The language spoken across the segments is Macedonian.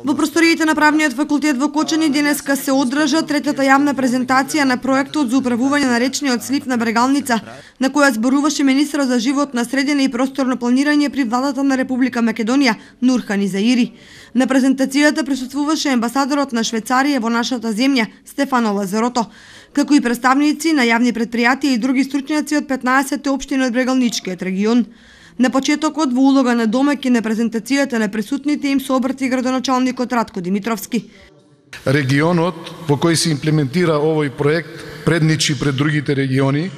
Во просториите на Правниот факултет во Кочани денеска се одржа третата јавна презентација на проектот за управување на речниот слив на Брегалница, на која зборуваше министерот за животна средина и просторно планирање при владата на Република Македонија Нурхан Изаири. На презентацијата присуствуваше амбасадорот на Швајцарија во нашата земја Стефано Лазарото, како и представници на јавни претпријатија и други стручњаци од 15 општини од Брегалничкиот регион. На почетокот во улога на домаќин на презентацијата на присутните им се обрати градоначалникот Ратко Димитровски. Регионот во кој се имплементира овој проект предничи пред другите региони,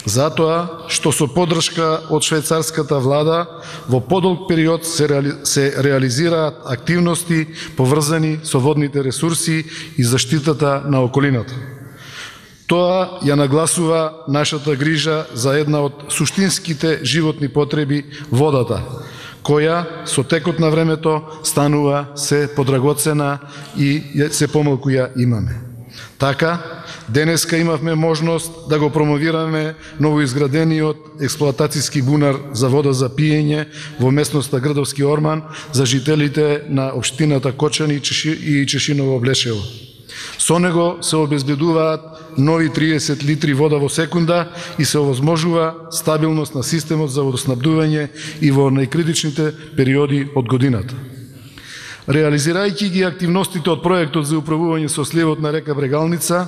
затоа што со поддршка од швајцарската влада во подолг период се реализираат активности поврзани со водните ресурси и заштитата на околината. Тоа ја нагласува нашата грижа за една од суштинските животни потреби – водата, која со текот на времето станува се подрагоцена и се помалку ја имаме. Така, денеска имавме можност да го промовираме новоизградениот експлоатацијски бунар за вода за пиење во местноста Грдовски Орман за жителите на општината Кочани и Чешиново Блешево. Со него се обезбедуваат нови 30 литри вода во секунда и се овозможува стабилност на системот за водоснабдување и во најкритичните периоди од годината. Реализирајќи ги активностите од проектот за управување со сливот на река Брегалница,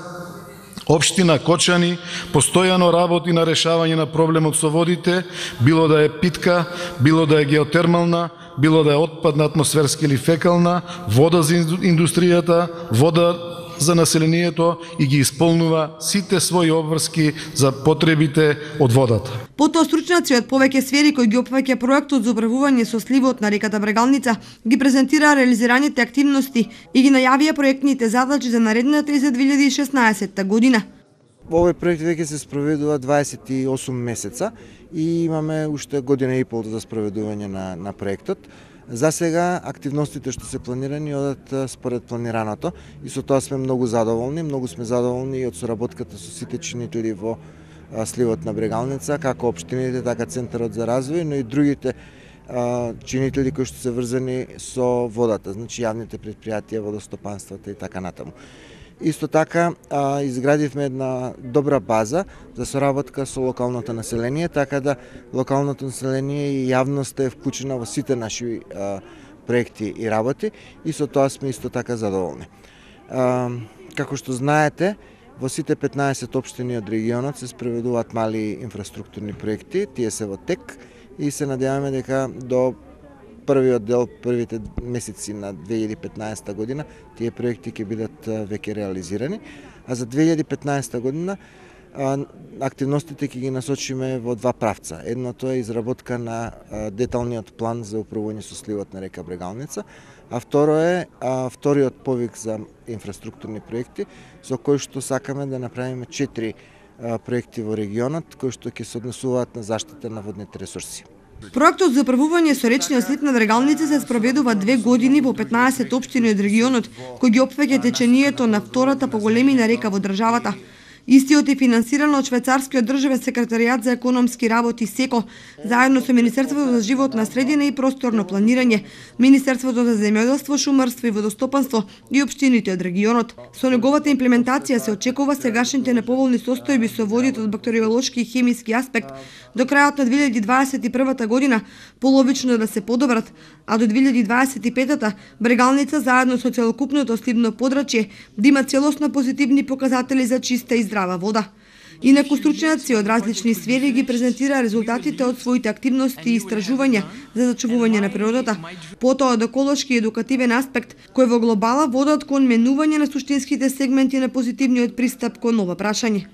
општина Кочани постојано работи на решавање на проблемот со водите, било да е питка, било да е геотермална, било да е отпадна атмосферска или фекална, вода за индустријата, вода за населението и ги исполнува сите своји обврски за потребите од водата. Потоа стручњаци од повеќе сфери кои ги опфаќа проектот за управување со сливот на реката Брегалница ги презентираа реализираните активности и ги најавија проектните задачи за наредната и за 2016 година. Овој проект веќе се спроведува 28 месеца и имаме уште година и пол за спроведување на проектот. За сега активностите што се планирани одат според планираното и со тоа сме многу задоволни. Многу сме задоволни и од соработката со сите чинители во сливот на Брегалница, како општините, така Центарот за развој, но и другите чинители кои што се врзани со водата, значи јавните претпријатија, водостопанствата и така натаму. Исто така изградивме една добра база за соработка со локалното население, така да локалното население и јавноста е вклучена во сите наши проекти и работи и со тоа сме исто така задоволни. Како што знаете, во сите 15 општини од регионот се спроведуваат мали инфраструктурни проекти, тие се во тек и се надеваме дека до првиот дел, првите месеци на 2015 година, тие проекти ќе бидат веќе реализирани, а за 2015 година активностите ќе ги насочиме во два правца. Едното е изработка на деталниот план за управување со сливот на река Брегалница, а второ е вториот повик за инфраструктурни проекти, со кој што сакаме да направиме 4 проекти во регионот, кои што ќе се однесуваат на заштита на водните ресурси. Проектот за управување со речниот слив на Брегалница се спроведува 2 години во 15 општини од регионот, кој ги опфаќа течението на втората по големина река во државата. Истиот е финансиран од Швајцарскиот државен секретаријат за економски работи СЕКО, заедно со Министерството за животна средина и просторно планирање, Министерството за земјоделство, шумарство и водостопанство и општините од регионот. Со неговата имплементација се очекува сегашните неповолни состојби со водите од бактериолошки и хемиски аспект до крајот на 2021 година половично да се подобрат, а до 2025 Брегалница заедно со целокупното сливно подрачје да има целосно позитивни показатели за чиста и здрава вода. Инаку стручњаци од различни сфери ги презентира резултатите од своите активности и истражувања за зачувување на природата, потоа од еколошки и едукативен аспект, кој во глобала водат кон менување на суштинските сегменти на позитивниот пристап кон ова прашање.